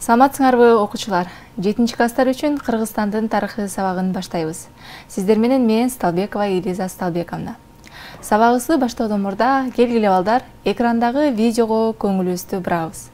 Саламатсыңарбы окуучулар? 7-класстар үчүн Кыргызстандын тарыхы сабагын баштайбыз. Сиздер менен мен Сталбекова Элиза Сталбековна. Сабагыбызды баштоодон мурда келгиле балдар, экрандагы видеого көңүлүбүздү бурабыз.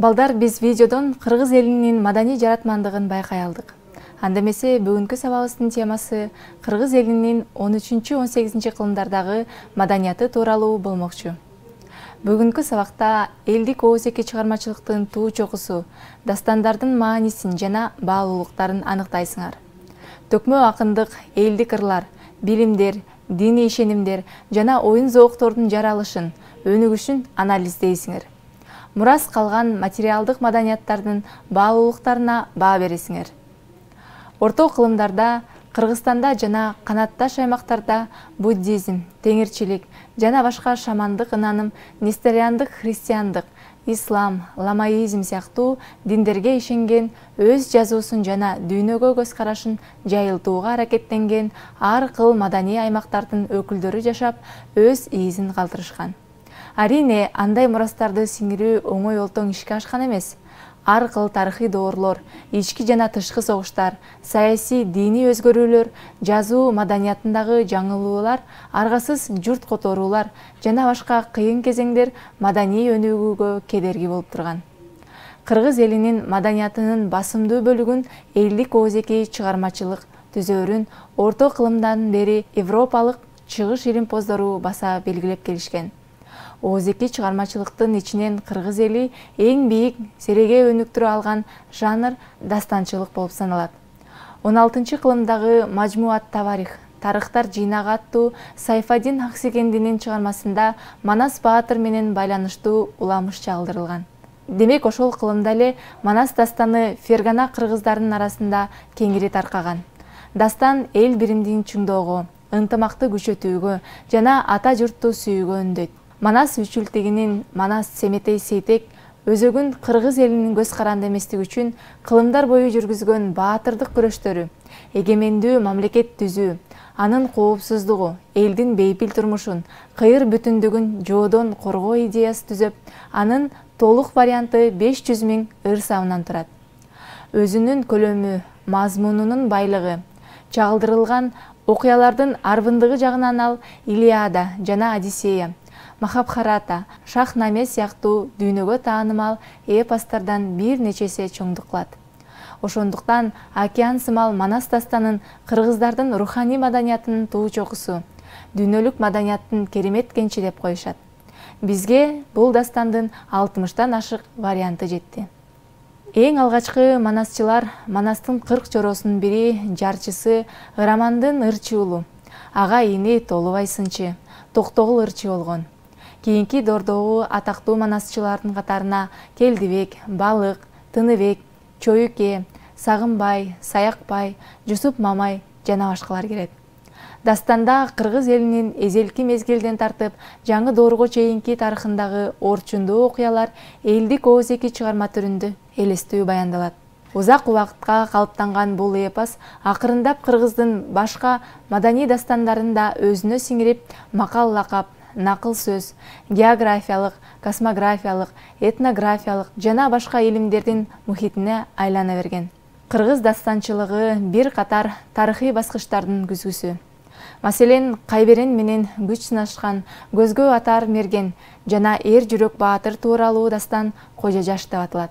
Балдар, биз видеодон кыргыз элинин маданий жаратмандыгын байкай алдык. Анда эмесе бүгүнкү сабагыбыздын темасы кыргыз элинин 13-18 кылымдардагы маданияты тууралуу болмокчу. Бүгүнкү сабакта элдик оозеки чыгармачылыктын туу чокусу, дастандардын маанисин жана баалуулуктарын аныктайсыңар. Төкмө акындык, элдик ырлар, билимдер, диний ишенимдер жана оюн зооктордун жаралышын, өнүгүшүн анализдейсиңер. Мурас калган материалдык маданияттардын баалуулуктарына баа бересиңер. Орто кылымдарда, Кыргызстанда жана канатташ аймактарда буддизм, теңирчилик жана башка шамандык ынаным, несториандык христиандык, ислам, ламаизм сыяктуу диндерге ишенген, өз жазуусун жана дүйнөгө көз карашын жайылтууга аракеттенген ар кыл маданий аймактардын өкүлдөрү жашап, өз изин калтырышкан. Арине, андай мурастарды сиңирүү оңой олтоң ишке ашкан эмес. Ар кыл тарыхый доорлор, ички жана тышкы согуштар, саясий, диний өзгөрүүлөр, жазуу маданиятындагы жаңылуулар, аргасыз журт которуулар жана башка кыйын кезеңдер маданий өнүгүүгө кедерги болуп турган. Кыргыз элинин маданиятынын басымдуу бөлүгүн элдик оозеки чыгармачылык түзөөрүн орто кылымдан бери европалык чыгыш илимпоздору баса белгилеп келишкен. Оозеки чыгармачылыктын ичинен кыргыз эли эң бийик сереге өнүктүрө алган жанр дастанчылык болуп саналат. 16-кылымдагы Мажмуат Таварих, тарыхтар жыйнагы аттуу Сайфаддин Аксекендинин чыгармасында Манас баатыр менен байланыштуу уламыш чагылдырылган. Демек, ошол кылымда эле Манас дастаны Фергана кыргыздарынын арасында кеңири таркаган. Дастан эл биримдигин чыңдоого, ынтымакты күчөтүүгө жана ата журтту сүйүүгө үндөйт. Манас үчүлтигинин Манас Семетей Сейтек өзөгүн кыргыз элинин көз каранды эместиги үчүн кылымдар бою жүргүзгөн баатырдык күрөштөрү, эгемендүү мамлекет түзүү, анын коопсуздугу, элдин бейпил турмушун, кыйыр бүтүндүгүн жоодон коргоо идеясы түзөп, анын толук варианты 500 000 ыр сабынан турат. Өзүнүн көлөмү, мазмунунун байлыгы, чагылдырылган окуялардын арбындыгы жагынан ал Илиада жана Одиссея, Махабхарата, Шахнаме сыяктуу дүйнөгө таанымал эпостардан бир нечеси чоңдук кылат. Ошондуктан океан сымал Манас дастанын кыргыздардын руханий маданиятынын туу чокусу, дүйнөлүк маданияттын керемет кенчи деп коюшат. Бизге бул дастандын 60тан ашык варианты жетти. Эң алгачкы манасчылар Манастын 40 чороосунун бири жарчысы Ырамандын ырчы уулу, ага ини Толубай сынчы, Токтогул ырчы болгон. Кийинки дордогу атактуу манасчылардын катарына Келдибек, Балык, Тыныбек, Чоюке, Сагынбай, Саякбай, Жусуп Мамай жана башкалар кирет. Дастанда кыргыз элинин эзелки мезгилден тартып жаңы доорго чейинки тарыхындагы орчундуу окуялар элдик оозеки чыгарма түрүндө элестүү баяндалат. Узак убакытка калыптанган бул эпос акырындап кыргыздын башка маданий дастандарында өзүнө сиңирип, макал лакап, накыл сөз, географиялык, космографиялык, этнографиялык жана башка илимдердин мухитине айлана берген. Кыргыз дастанчылыгы бир катар тарыхый баскычтардын күзгүсү. Маселен, Кайберен менен күч сынашкан, көзгө атар мерген жана эр жүрөк баатыр тууралуу дастан Кожо Жаш деп аталат.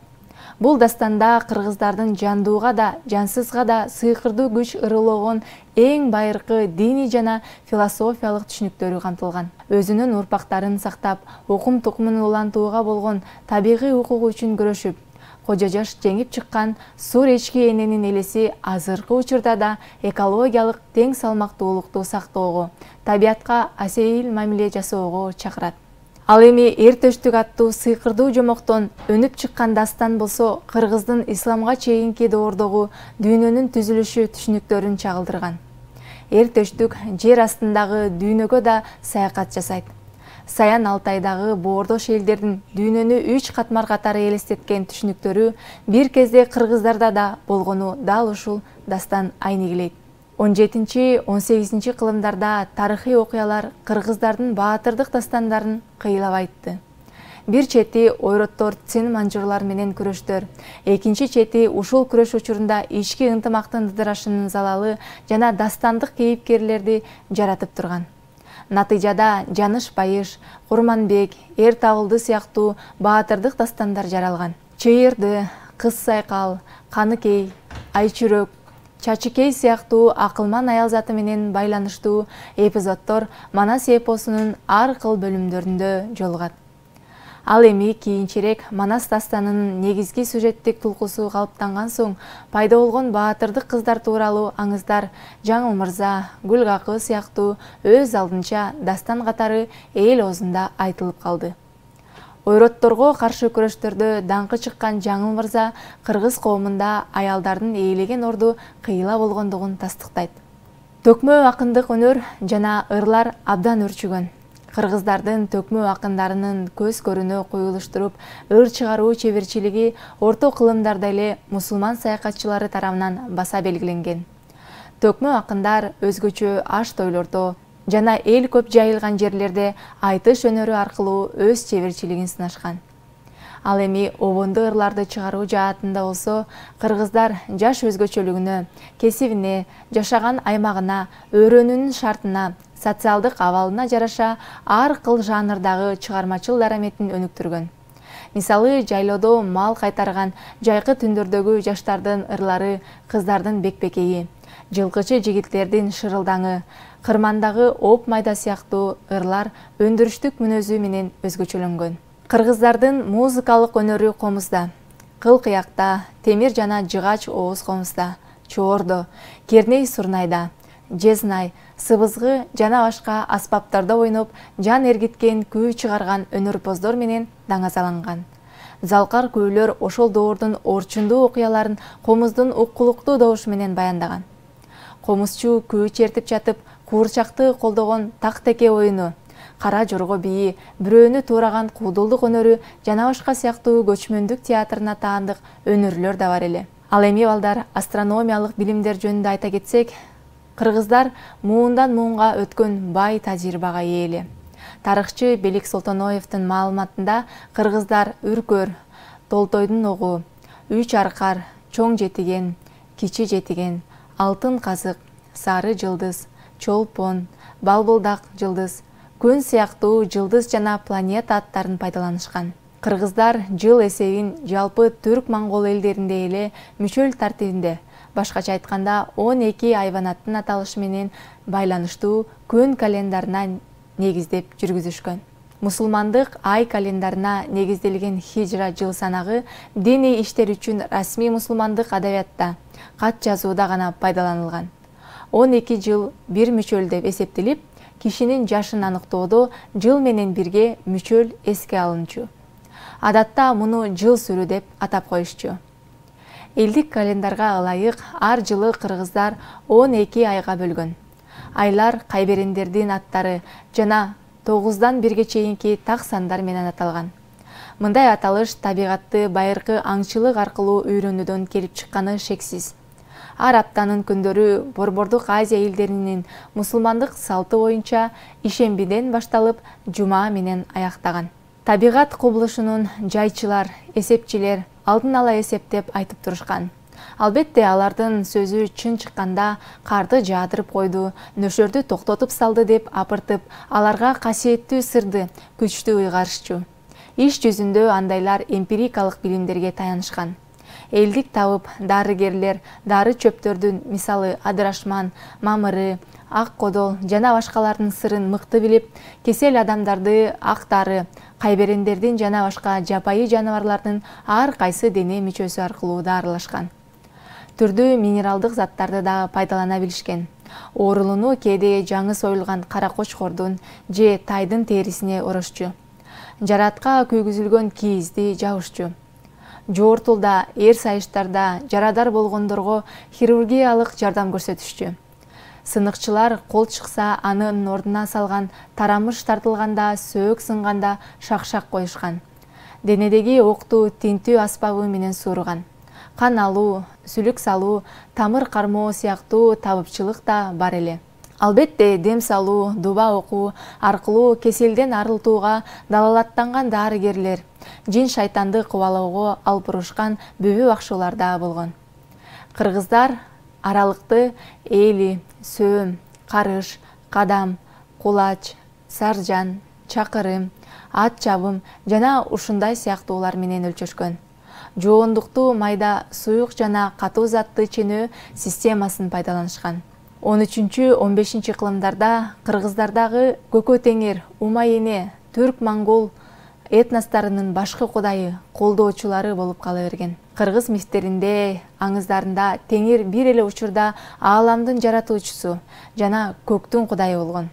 Бул дастанда кыргыздардын жандууга да, жансызга да сыйкырдуу күч ырылоогон эң байыркы диний жана философиялык түшүнүктөрү камтылган. Өзүнүн урпактарын сактап, укум тукумун улантууга болгон табигый укугу үчүн күрөшүп, Кожо Жаш жеңип чыккан сур эчки эненин элеси азыркы учурда да экологиялык тең салмактуулукту сактоого, табиятка асейил мамиле жасоого чакырат. Ал эми эр төштүк аттуу сыйкырдуу жомоктон өнүп чыккан дастан болсо кыргыздын исламга чейинки доордогу дүйнөнүн түзүлүшү түшүнүктөрүн чагылдырган. Эр төштүк жер астындагы дүйнөгө да саякат жасайт. Саян Алтайдагы боордош элдердин дүйнөнү 3 катмар катары элестеткен түшүнүктөрү бир кезде кыргыздарда да болгону дал ушул дастан айнегилейт. 17-18 кылымдарда тарыхый окуялар кыргыздардын баатырдык дастандарын кыйлап айтты. Бир чети ойроттор цин манжурлар менен күрөштөр, экинчи чети ушул күрөш учурунда ички ынтымактын ыдырашынын залалы жана дастандык кейипкерлерди жаратып турган. Натыйжада Жаныш Байыш, Курманбек, Эр Табылды сыяктуу баатырдык дастандар жаралган. Чыйырды, Кыз Сайкал, Каныкей, Айчүрөк, Чачыкей сыяктуу акылман аял заты менен байланыштуу эпизоддор Манас эпосунун ар кыл бөлүмдөрүндө жолугат. Ал эми кийинчерээк Манас дастанынын негизги сюжеттик тулкусу калыптанган соң пайда болгон баатырдык кыздар тууралуу аңыздар Жаңыл Мырза, Гүл Какы сыяктуу өз алдынча дастан катары эл оозунда айтылып калды. Ойротторго каршы күрөштөрдө даңкы чыккан Жаңыл Мырза кыргыз коомунда аялдардын ээлеген орду кыйла болгондугун тастыктайт. Төкмө акындык өнөр жана ырлар абдан өрчүгөн. Кыргыздардын төкмө акындарынын көз көрүнө коюлуштуруп ыр чыгаруу чеберчилиги орто кылымдарда эле мусулман саякатчылары тарабынан баса белгиленген. Төкмө акындар өзгөчө аш тойлордо жана эл көп жайылган жерлерде айтыш өнөрү аркылуу өз чеберчилигин сынашкан. Ал эми обондо ырларды чыгаруу жаатында болсо, кыргыздар жаш өзгөчөлүгүнө, кесибине, жашаган аймагына, өрөөнүнүн шартына, социалдык абалына жараша ар кыл жанрдагы чыгармачыл дараметин өнүктүргөн. Мисалы, жайлоодо мал кайтарган жайкы түндөрдөгү жаштардын ырлары, кыздардын бекбекейи, жылкычы жигиттердин шырылдаңы, кырмандагы оп майда сыяктуу ырлар өндүрүштүк мүнөзү менен өзгөчөлөнгөн. Кыргыздардын музыкалык өнөрү комузда, кыл кыякта, темир жана жыгач ооз комузда, чоордо, керней сурнайда, жезнай, сыбызгы жана башка аспаптарда ойноп, жан эргиткен күү чыгарган өнөрпоздор менен даңазаланган. Залкар күүлөр ошол доордун орчундуу окуяларын комуздун уккулуктуу добушу менен баяндаган. Комузчу күү чертип жатып, куурчакты колдогон так-теке оюну, кара жорго бийи, бирөөнү туураган куудулдук өнөрү жана башка сыяктуу көчмөндүк театрына таандык өнөрлөр да бар эле. Ал эми балдар, астрономиялык билимдер жөнүндө айта кетсек, кыргыздар муундан муунга өткөн бай тажрыйбага ээ эле. Тарыхчы Белик Солтоноевдин маалыматында кыргыздар үркөр, Толтойдун огу, Үч аркар, Чоң жетиген, Кичи жетиген, Алтын казык, Сары жылдыз, Чолпон, Балбылдак жылдыз, күн сыяктуу жылдыз жана планета аттарын пайдаланышкан. Кыргыздар жыл эсебин жалпы түрк-моңгол элдеринде эле мүчөл тартибинде, башкача айтканда 12 айванаттын аталышы менен байланыштуу күн календарына негиздеп жүргүзүшкөн. Мусулмандык ай календарына негизделген хижра жыл санагы диний иштер үчүн расмий мусулмандык адабиятта, кат жазууда гана пайдаланылган. 12 жыл бир мүчөл деп эсептелип, кишинин жашын аныктоодо жыл менен бирге мүчөл эске алынчу. Адатта муну жыл сүрү деп атап коюшчу. Элдик календарга ылайык ар жылы кыргыздар 12 айга бөлгөн. Айлар кайберендердин аттары жана 9-дан 1-ге чейинки так сандар менен аталган. Мындай аталыш табигатты байыркы аңчылык аркылуу үйрөнүүдөн келип чыкканы шексиз. Ар аптанын күндөрү Борбордук Азия элдеринин мусулмандык салты боюнча ишембиден башталып, жума менен аяктаган. Табигат кубулушунун жайчылар, эсепчилер алдын ала эсептеп айтып турушкан. Албетте, алардын сөзү чын чыкканда карды жаадырып койду, нөшөрдү токтотуп салды деп апыртып, аларга касиеттүү сырды күчтүү ыйгарышчу. Иш жүзүндө андайлар эмпирикалык билимдерге таянышкан. Элдик табып, дарыгерлер дары чөптөрдүн, мисалы адырашман, мамыры, ак кодол жана башкалардын сырын мыкты билип, кесел адамдарды ак дары, кайберендердин жана башка жапайы жаныбарлардын ар кайсы дене мүчөсү аркылуу дарылашкан. Түрдүү минералдык заттарды да пайдалана билишкен. Оорулууну кээде жаңы союлган кара кочкордун же тайдын терисине урушчу. Жаратка күйгүзүлгөн кийизди жабышчу. Жоортулда, эр сайыштарда жарадар болгондорго хирургиялык жардам көрсөтүшчү. Сыныкчылар кол чыкса анын ордуна салган, тарамыш тартылганда, сөөк сынганда шакшак коюшкан. Денедеги окту тинтүү аспабы менен сууруган. Кан алуу, сүлүк салуу, тамыр кармоо сыяктуу табыпчылык да бар эле. Албетте, дем салуу, дуба окуу аркылуу кеселден арылтууга далалаттанган дарыгерлер, жин шайтанды кубалоого алып урушкан бүбү бакчылар да болгон. Кыргыздар аралыкты эли, сөөм, карыш, кадам, кулач, саржан, чакырым, ат чабым жана ушундай сыяктуулар менен өлчөшкөн. Жоондуктуу майда суюк жана катуу затты ченөө системасын пайдаланышкан. 13-15 кылымдарда кыргыздардагы Көкө Теңир, Умай эне, түрк-монгол этносторунун башкы кудайы, колдоочулары болуп кала берген. Кыргыз мифтеринде, аңыздарында Теңир бир эле учурда ааламдын жаратуучусу жана көктүн кудайы болгон.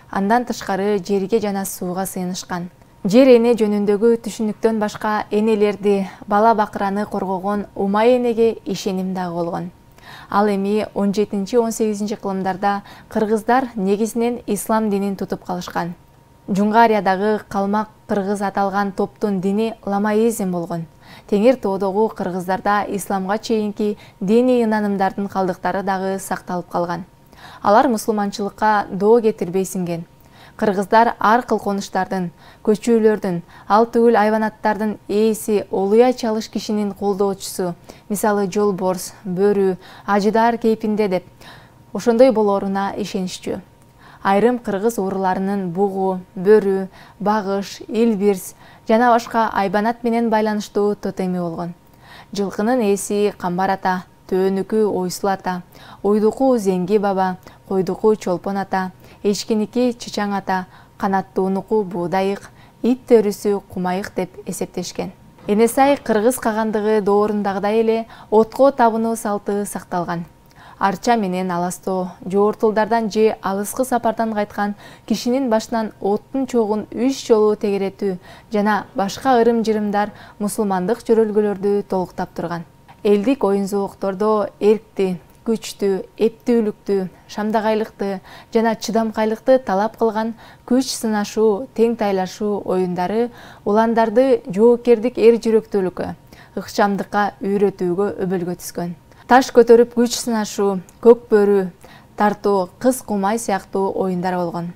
Андан тышкары жерге жана сууга сыйынышкан. Жер эне жөнүндөгү түшүнүктөн башка энелерди, бала бакыраны коргогон Умай энеге ишеним дагы болгон. Ал эми 17-18 кылымдарда кыргыздар негизинен ислам динин тутуп калышкан. Жунгариядагы калмак кыргыз аталган топтун дини ламаизм болгон. Теңир тоодогу кыргыздарда исламга чейинки диний ынанымдардын калдыктары дагы сакталып калган. Алар мусулманчылыкка доо кетирбей сиңген. Кыргыздар ар кыл конуштардын, көчүүлөрдүн, ал түгүл айванаттардын ээси, олуя чалыш кишинин колдоочусу, мисалы жолборс, бөрү, ажыдар кейпинде деп, ошондой болоруна ишенишчү. Айрым кыргыз ууруларынын бугу, бөрү, багыш, илбирс жана башка айбанат менен байланыштуу тотеми болгон. Жылкынын ээси Камбар ата, төөнүкү Ойсул ата, уйдуку Зеңги баба, койдуку Чолпон ата, эчкиники Чычаң ата, канаттуунуку Буудайык, ит төрүсү Кумайык деп эсептешкен. Энесай кыргыз кагандыгы доорундагыдай эле отко табынуу салты сакталган. Арча менен аластоо, жоортулдардан же алыскы сапардан кайткан кишинин башынан оттун чогун 3 жолу тегеретүү жана башка ырым-жырымдар мусулмандык жөрөлгөлөрдү толуктап турган. Элдик оюн-зооктордо эркти, күчтүү, эптүүлүктү, шамдагайлыкты жана чыдамкайлыкты талап кылган күч сынашуу, тең тайлашуу оюндары уландарды жоокердик эр жүрөктүүлүккө, ыкчамдыкка үйрөтүүгө өбөлгө түскөн. Таш көтөрүп күч сынашуу, көк бөрү тартуу, кыз кумай сыяктуу оюндар болгон.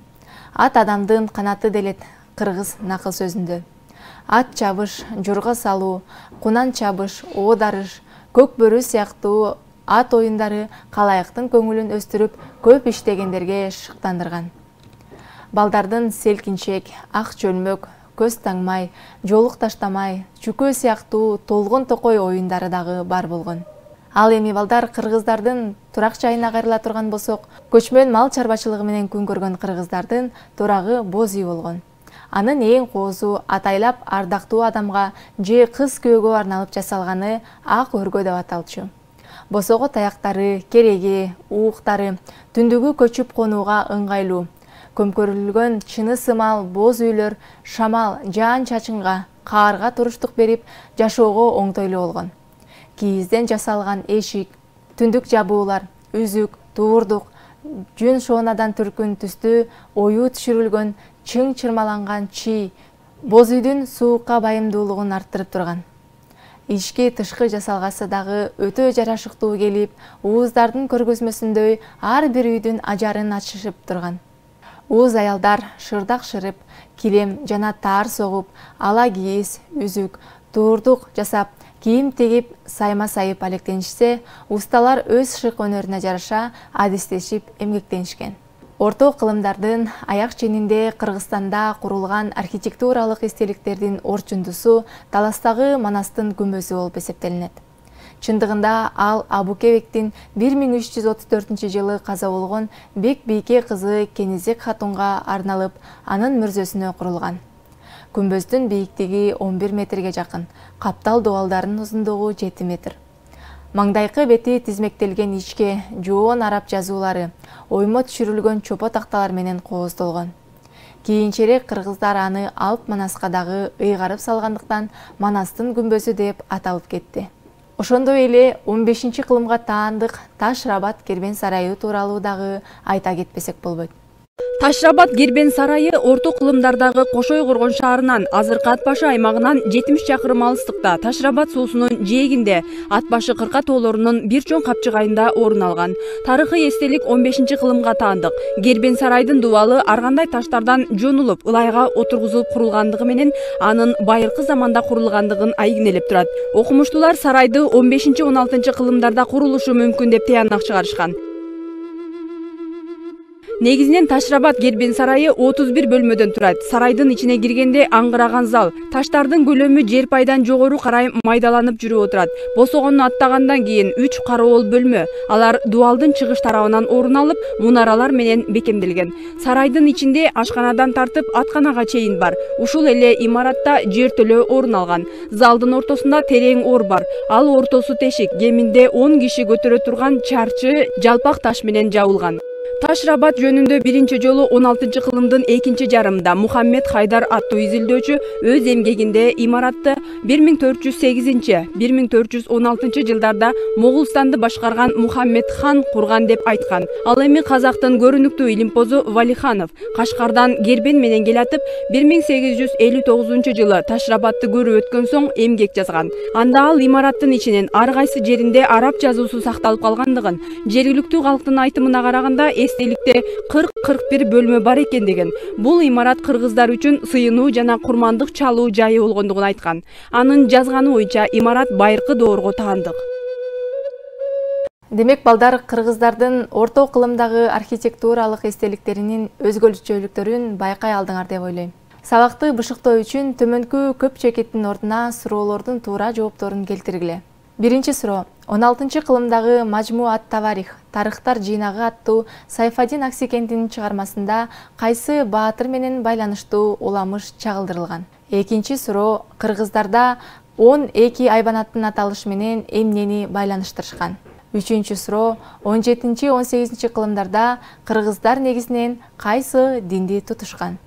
Ат адамдын канаты делет кыргыз накыл сөзүндө. Ат чабыш, жорго салуу, кунан чабыш, оодарыш, көк бөрү сыяктуу ат оюндары калайыктын көңүлүн өстүрүп, көп иштегендерге шыктандырган. Балдардын селкинчек, ак чөлмөк, көз таңмай, жолук таштамай, чүкө сыяктуу толгон токой оюндары дагы бар болгон. Ал эми балдар кыргыздардын турак жайына кайрыла турган болсок, көчмөн мал чарбачылыгы менен күн көргөн кыргыздардын турагы боз үй болгон. Анын эң коозу атайлап ардактуу адамга же кыз күйөөгө арналып жасалганы ак өргө деп аталчу. Босого таяктары, кереги, ууктары түндүгү көчүп конууга ыңгайлуу. Көмкөрүлгөн чыны сымал боз үйлөр шамал, жаан-чачынга, каарга туруштук берип, жашоого оңтойлуу болгон. Кийизден жасалган эшик, түндүк жабуулар, үзүк, туурдук, жүн шоонадан түркүн түстүү оюу түшүрүлгөн чың чырмаланган чий боз үйдүн суукка байымдуулугун арттырып турган. Ички тышкы жасалгасы дагы өтө жарашыктуу келип, ууздардын көргөзмөсүндөй ар бир үйдүн ажарын ачышып турган. Ууз аялдар шырдак шырып, килем жана таар согуп, ала кийиз, үзүк, туурдук жасап, кийим тегип сайма сайып алектенишсе, усталар өз шык өнөрүнө жараша адистешип эмгектенишкен. Орто кылымдардын аяк ченинде Кыргызстанда курулган архитектуралык эстеликтердин орчундусу Таластагы Манастын күмбөзү болуп эсептелинет. Чындыгында ал Абу-Кебектин 1334-жылы каза болгон Бек Бийке кызы Кенизек хатунга арналып, анын мүрзөсүнө курулган. Күмбөздүн бийиктиги 11 метрге жакын, каптал дуалдарынын узундугу 7 метр. Маңдайкы бети тизмектелген ичке, жоон араб жазуулары, оймо түшүрүлгөн чопо такталар менен кооздолгон. Кийинчерээк кыргыздар аны Алп Манаска дагы ыйгарып салгандыктан Манастын күмбөзү деп аталып кетти. Ошондой эле 15-кылымга таандык Таш-Рабат Кербен сарайы тууралуу дагы айта кетпесек болбойт. Таш-Рабат Кербен сарайы орто кылымдардагы Кошой Коргон шаарынан азыркы Ат башы аймагынан 70 чакырым алыстыкта Таш-Рабат суусунун жээгинде Ат башы кырка тоолорунун бир чоң капчыгайында орун алган. Тарыхый эстелик 15-кылымга таандык. Кербен сарайдын дубалы ар кандай таштардан жонулуп, ылайга отургузулуп курулгандыгы менен анын байыркы заманда курулгандыгын айгинелеп турат. Окумуштуулар сарайды 15-16 кылымдарда курулушу мүмкүн деп тыянак чыгарышкан. Негизинен Таш-Рабат Кербен сарайы 31 бөлмөдөн турат. Сарайдын ичине киргенде аңгыраган зал, таштардын көлөмү жер пайдан жогору карай майдаланып жүрүп отурат. Босогонду аттагандан кийин 3 кароол бөлмө, алар дубалдын чыгыш тарабынан орун алып, мунаралар менен бекемделген. Сарайдын ичинде ашканадан тартып атканага чейин бар. Ушул эле имаратта жертөлө орун алган. Залдын ортосунда терең ор бар. Ал ортосу тешик, кеминде 10 киши көтөрө турган чарчы жалпак таш менен жабылган. Таш-Рабат жөнүндө биринчи жолу 16-кылымдын экинчи жарымында Мухаммед Хайдар аттуу изилдөөчү өз эмгегинде имаратты 1408-1416 жылдарда Моголстанды башкарган Мухаммед хан курган деп айткан. Ал эми казактын көрүнүктүү илимпозу Валиханов Кашкардан Кербен менен келатып 1859 жылы Таш-Рабатты көрүп өткөн соң эмгек жазган. Анда ал имараттын ичинен ар кайсы жеринде араб жазуусу сакталып калгандыгын, жергиликтүү калктын айтымына караганда эстеликте 40-41 бөлмө бар экендигин, бул имарат кыргыздар үчүн сыйынуу жана курмандык чалуу жайы болгондугун айткан. Анын жазганы боюнча имарат байыркы доорго таандык. Демек балдар, кыргыздардын орто кылымдагы архитектуралык эстеликтеринин өзгөчөлүктөрүн байкай алдыңар деп ойлойм. Сабакты бышыктоо үчүн төмөнкү көп чекиттин ордуна суроолордун туура жоопторун келтиргиле. Биринчи суроо. 16-кылымдагы Мажму ат-Таварих, тарыхтар жыйнагы аттуу Сайфаддин Аксекендинин чыгармасында кайсы баатыр менен байланыштуу уламыш чагылдырылган? Экинчи суроо. Кыргыздарда 12 айбанаттын аталышы менен эмнени байланыштырышкан? Үчүнчү суроо. 17-18 кылымдарда кыргыздар негизинен кайсы динди тутушкан?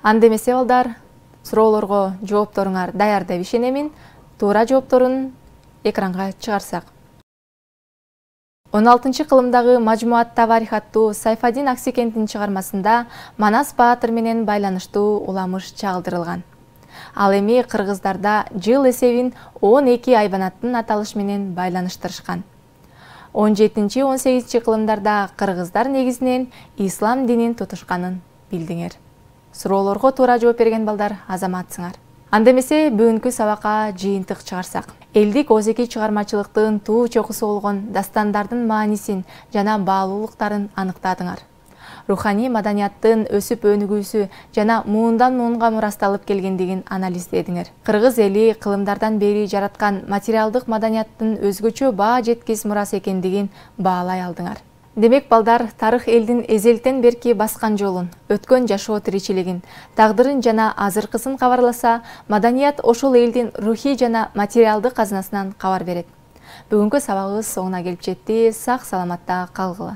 Анда эмесе балдар, суроолорго жоопторуңар даяр деп ишенемин. Туура жоопторун экранга чыгарсак. 16-кылымдагы Мажму ат-Таварих аттуу Сайфаддин Аксекендинин чыгармасында Манас баатыр менен байланыштуу уламыш чагылдырылган. Ал эми кыргыздарда жыл эсебин 12 айбанаттын аталышы менен байланыштырышкан. 17-18 кылымдарда кыргыздар негизинен ислам динин тутушканын билдиңер. Суроолорго туура жооп берген балдар азаматсыңар. Анда эмесе бүгүнкү сабакка жыйынтык чыгарсак. Элдик озеки чыгармачылыктын туу чокусу болгон дастандардын маанисин жана баалуулуктарын аныктадыңар. Руханий маданияттын өсүп өнүгүүсү жана муундан муунга мурасталып келгендигин анализдедиңер. Кыргыз эли кылымдардан бери жараткан материалдык маданияттын өзгөчө баа жеткис мурас экендигин баалай алдыңар. Демек балдар, тарых элдин эзелтен берки баскан жолун, өткөн жашоо тиричилигин, тагдырын жана азыркысын кабарласа, маданият ошол элдин рухий жана материалдык казынасынан кабар берет. Бүгүнкү сабагыбыз соңуна келип жетти. Сак саламатта калгыла.